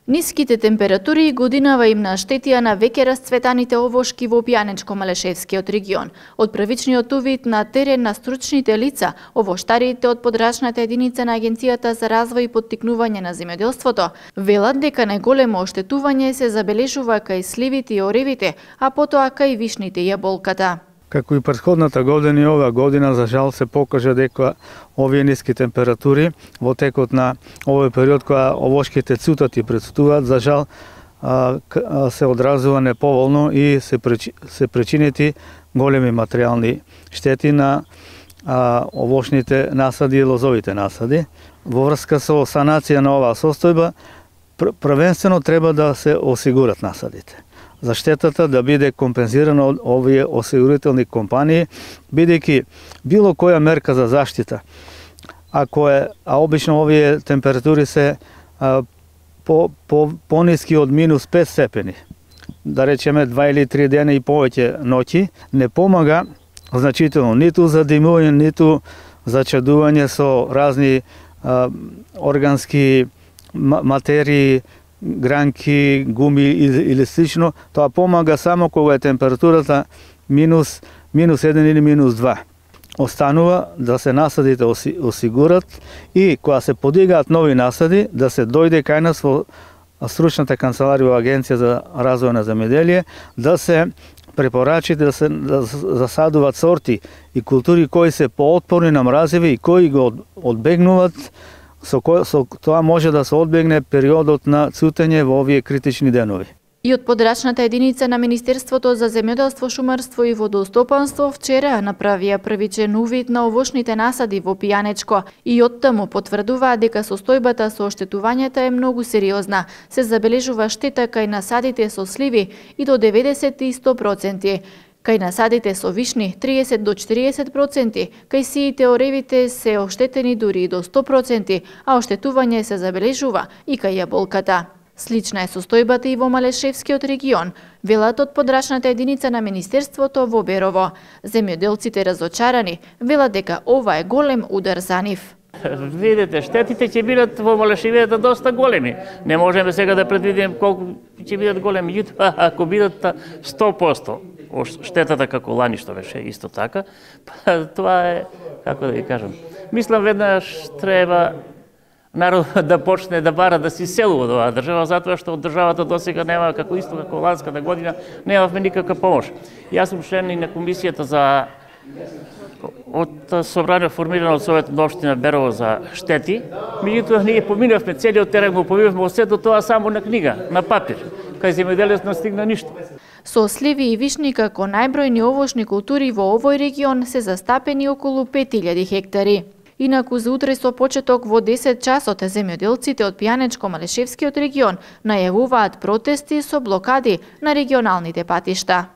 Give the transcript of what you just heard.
Ниските температури и годинава им наштетија на веќе расцветаните овошки во Пјанечко-Малешевскиот регион. Од првичниот увид на терен на стручните лица, овоштарите од подрачната единица на Агенцијата за развој и поттикнување на земјоделството велат дека најголемо оштетување се забележува кај сливите и оревите, а потоа кај вишните и јаболката. Како и претходната година и оваа година, за жал се покажа дека овие ниски температури во текот на овој период кога овошките цутат и прецутуваат, за жал се одразува неповолно и се причинети големи материјални штети на овошните насади и лозовите насади. Во врска со санација на оваа состојба, првенствено треба да се осигурат насадите. За штетата да биде компензирана од овие осигурителни компании, бидејќи било која мерка за заштита, а обично овие температури се пониски од минус 5 степени, да речеме 2 или 3 дена и повеќе ноќи, не помага значително ниту за димување, ниту за чадување со разни органски материи, гранки, гуми или слично. Тоа помага само кога е температурата минус 1 или минус 2. Останува да се насадите осигурат и кога се подигаат нови насади, да се дојде кај нас во стручната канцеларија во Агенција за развој на земјоделие, да се препорачи да се засадуваат сорти и култури кои се поотпорни на мразеви и кои го одбегнуваат. Со тоа може да се одбегне периодот на цутење во овие критични денови. И од подрачната единица на Министерството за земјоделство, шумарство и водостопанство вчера направија првичен увид на овошните насади во Пјанечко и од таму потврдуваа дека состојбата со оштетувањата е многу сериозна. Се забележува штета кај насадите со сливи и до 90 и 100%. Кај насадите со вишни 30 до 40%, кај сиите оревите се оштетени дури и до 100%, а оштетување се забележува и кај јаболката. Слична е состојбата и во Малешевскиот регион, велат од подрачната единица на Министерството во Берово. Земјоделците разочарани велат дека ова е голем удар за нив. Видите, штетите ќе бидат во Малешевијата доста големи. Не можеме сега да предвидиме колку ќе бидат големи, меѓутоа ако бидат 100%, штетата како лани што беше исто така, тоа е, како да ви кажам, мислам веднаш треба народ да почне да бара да се селува од оваа држава, затоа што од државата досега нема, како исто како ланската година, немавме никаква помош. Јас сум член и на комисијата за од собрание формирано од Советот на општина Берово за штети, меѓутоа ние поминавме целиот терен, го поминавме од сето тоа само на книга, на папир, кај земјоделецот не стигна ништо. Со сливи и вишни како најбројни овошни култури во овој регион се застапени околу 5000 хектари. Инаку за утре со почеток во 10 часот земјоделците од Пјанечко-Малешевскиот регион најавуваат протести со блокади на регионалните патишта.